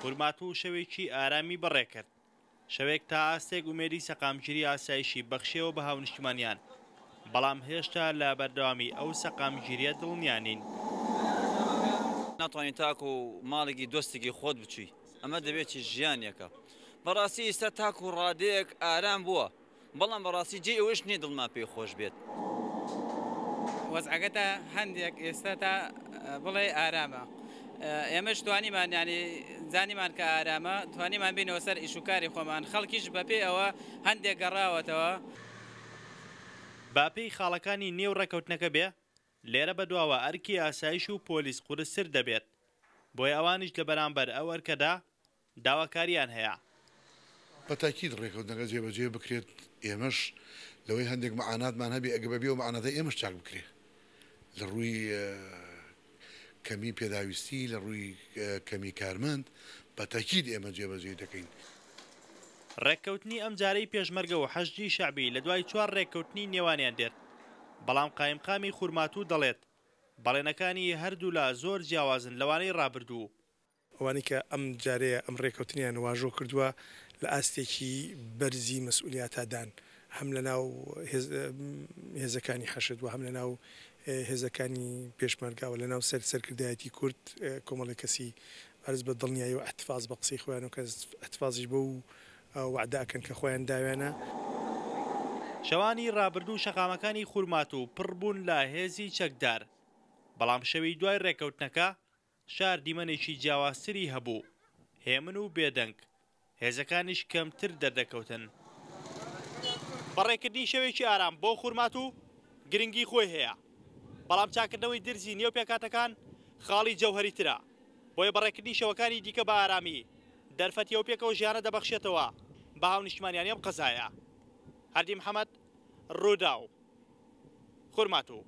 خورماتوو شەوێکی ئارامی بەڕێکرد، شەوێک تا ئاستێک ئومێدی سەقامگیری ئاسایشی بەخشیەوە بە هاونیشتیمانیان، بەڵام هێشتا لە بەردەوامی ئەو سەقامگیریە دڵنیا نین. ناتوانی تاکو ماڵێکی دۆستێکی خۆت بچوی ئەمە دەبێت چی ژیانێکە بەڕاستی ئیستا تاکو ڕادەیەک ئارام بووە بەڵام بەڕاستی جێی ئەوەش نییە دڵمان پێی خۆش بێت. وەزعەکە تا هەندێک ئێستا تا بڵێ ئارامە ئێمەش توانیمان یانی زانیمان کە ئارامە توانیمان بینەوە سەر ئیش و کاری خۆمان خەڵکیش بەپێی ئەوە هەندێک گەڕاوەتەوە. با پێی خاڵەکانی نێو ڕێکەوتنەکە بێ، لێرە بەدواوە ئەرکی ئاسایش و پۆلیس قورستر دەبێت، بۆیە ئەوانیش لە بەرامبەر ئەو ئەرکەدا داواکارییان هەیە. بە تاکید ڕێکەوتنەکە جێبەجێ بکرێت، ئێمەش لەوەی هەندێک مەعاناتمان هەبێ ئەگەر بەبێ ئەو مەعاناتە ئێمەش چاک بکرێ لە ڕووی کەمی پێداویستی، لە ڕووی کەمی کارمەند بە تاکید ئێمە جێبەجێی دەکەین. ڕێککەوتنی ئەمجارەی پێشمەرگە و حەشدی شەعبی لە دوای چوار ڕێککەوتنی نێوانیان دێت، بەڵام قایمقامی خورماتوو دەڵێت، بەڵێنەکانی هەردوولا زۆر جیاوازن لەوانەی ڕابردوو. ئەوانەی کە ئەم جارەیە ئەم ڕێکەوتنەیان واژۆ کردووە لە ئاستێکی بەرزی مەسئولیاتا دان هەم لە ناو هێزەکانی حەشد و هەم لە ناو هێزەکانی پێشمەرگە و لە ناو سەر سەرکردایەتی کورد کۆمەڵێک کەسی بەرز بە دڵنیایی و ئیحتفاز بە قسەی خۆیان و کەس ئیحتفازیش بەو وەعدە ئەکەن کە خۆیان داویانە. شەوانی ڕابردوو شەقامەکانی خورماتوو پڕ بوون لە هێزی چەکدار، بەڵام شەوی دوای ڕێککەوتنەکە شار دیمەنێکی جیاوازتری هەبوو، هێمن و بێدەنگ، هێزەکانیش کەمتر دەردەکەوتن. بەڕێکردنی شەوێکی ئارام بۆ خورماتوو گرنگی خۆی هەیە، بەڵام چاککردنەوەی درزی نێو پێکهاتەکان خاڵی جەوهەریترە، بۆیە بەڕێکردنی شەوەکانی دیکە بە ئارامی، دەرفەتی ئەو پێکەوە ژیانە دەبەخشێتەوە بە هاونیشتمانیانی ئەم قەزایە. هەردی محەمەد، رووداو، خورماتوو.